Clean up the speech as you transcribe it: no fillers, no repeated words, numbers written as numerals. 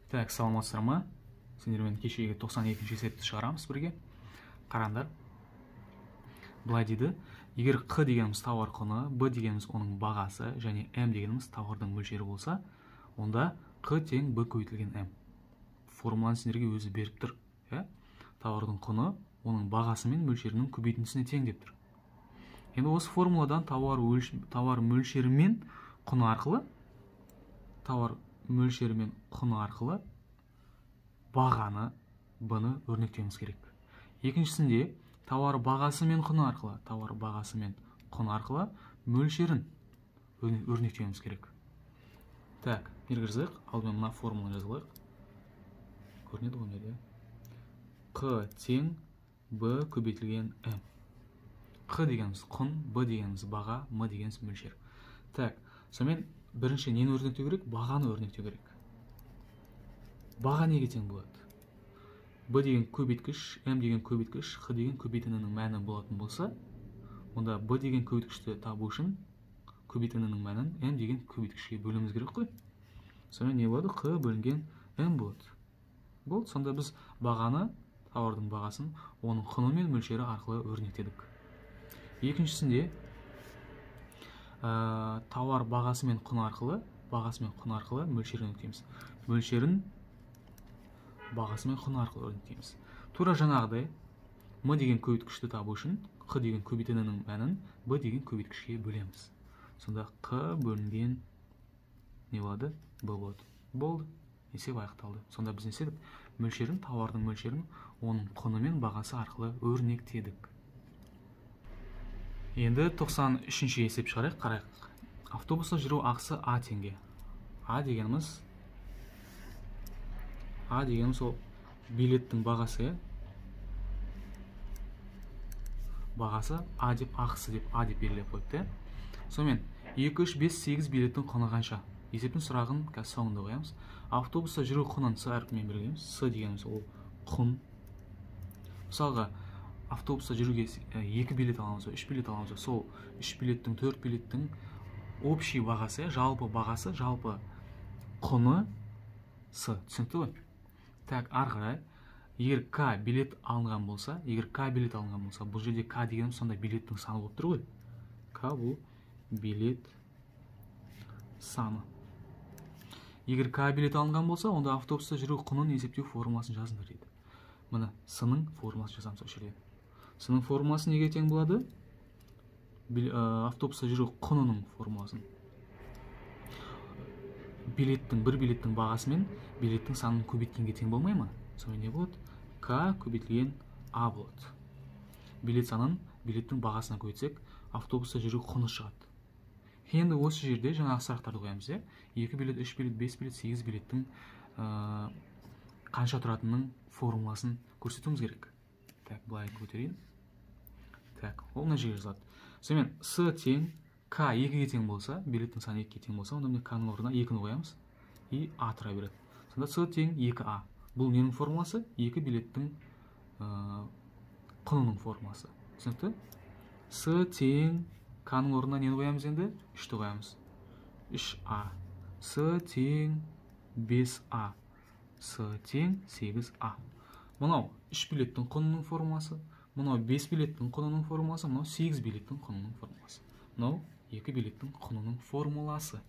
Так, саламатсыздар ма? Сендермен кешегі 92-ші есепті шығарамыз бірге. Қараңдар. Былай дейді, егер Q дегеніміз тауар құны, B дегеніміз оның бағасы және M дегеніміз тауардың мөлшері болса, онда Q тең B көбейтілген M. Формуланы сендерге өзі беріп тұр. Тауардың құны оның бағасы мен мөлшерінің көбейтіндісіне тең деп тұр. Енді осы формуладан тауар мөлшері мен құны арқылы бағаны B-ны өрнектеуіміз керек. Екіншісінде тауар бағасы мен құны арқылы мөлшерін өрнектеуіміз керек. Так, бергізік, алдымен мына формуланы жазылайық. Көрінеді ғой неде? Q тең B көбейтілген M. Q дегеніміз құн, B дегеніміз баға, M дегеніміз мөлшер. Так, сонымен бірінші нені өрнектеу керек? Бағаны өрнектеу керек. Баға неге тең болады? B деген көбейткіш, M деген көбейткіш, Q деген көбейтінінің мәні болатын болса, онда B деген көбейткішті табу үшін көбейтінінің мәнін M деген көбейткішке бөліміз керек қой. Сонымен не болады? Q бөлінген M болады. Болды, сонда біз бағаны, тауардың бағасын, оның құны мен мөлшері арқылы өрнектедік. Екіншісінде тауар бағасы мен құны арқылы мөлшерін өрнектейміз. Мөлшерін бағасы мен құны арқылы өрнектейміз. Тура жаңағыдай M деген көбейткішті табу үшін Q деген көбейтінінің мәнін B деген көбейткішке бөлеміз. Сонда Q бөлінген не болады? B болады. Болды. Есеп аяқталды. Сонда біз не істедік? Тауардың мөлшерін оның құны мен бағасы арқылы өрнектедік. Енді 93-ші есеп шығарайық, қарайық. Автобуста жүру ақысы А теңге. А дегеніміз ол билеттің бағасы, А деп, ақысы деп, А деп белгілеп қойыпты. Сонымен 2, 3, 5, 8 билеттің құны қанша? Есептің сұрағын соңында қоямыз. Автобуста жүру құнын С әрпімен белгілейміз. С дегеніміз ол құн. Мысалға, автобуста жүруге 2 билет аламыз, 3 билет аламыз. Сол 3 билеттің, 4 билеттің общий бағасы, жалпы бағасы, жалпы құны С. Түсінікті ғой? Так, арғырай. Егер К билет алынған болса, бұл жерде К дегенім сонда билеттің саны болып тұр ғой. К бұл билет саны. Егер К билет алынған болса, онда автобуста жүру құнын есептеу формуласын жазыңдар дейді. Мына С-ның формуласын жазамыз осы жерде. С-ның формуласы неге тең болады? Автобуста жүру құнының формуласын. Бір билеттің бағасы мен билеттің санын көбейткенге тең болмай ма? Сонымен не болады? К көбейтілген А болады. Билет санын билеттің бағасына көбейтсек, автобуста жүру құны шығады. Енді осы жерде жаңағы сұрақтарды қоямыз. 2 билет, 3 билет, 5 билет, 8 билеттің қанша тұратынының формуласын көрсетуіміз керек. Так, былай көтерейін. Так, ол мына жерге жазылады. Сонымен С тең К 2-ге тең болса, билеттің саны 2-ге тең болса, онда К-ның орнына 2-ні қоямыз. И А тұра береді. Сонда С тең 2А. Бұл ненің формуласы? 2 билеттің құнының формуласы. Түсінікті? С тең К-ның орнына нені қоямыз енді? 3-ті қоямыз. 3А. С тең 5А. С тең 8А. Мұнау 3 билеттің құнының формуласы. Мұнау 5 билеттің құнының формуласы. Мұнау 8 билеттің құнының формуласы. Мұнау 2 билеттің құнының формуласы.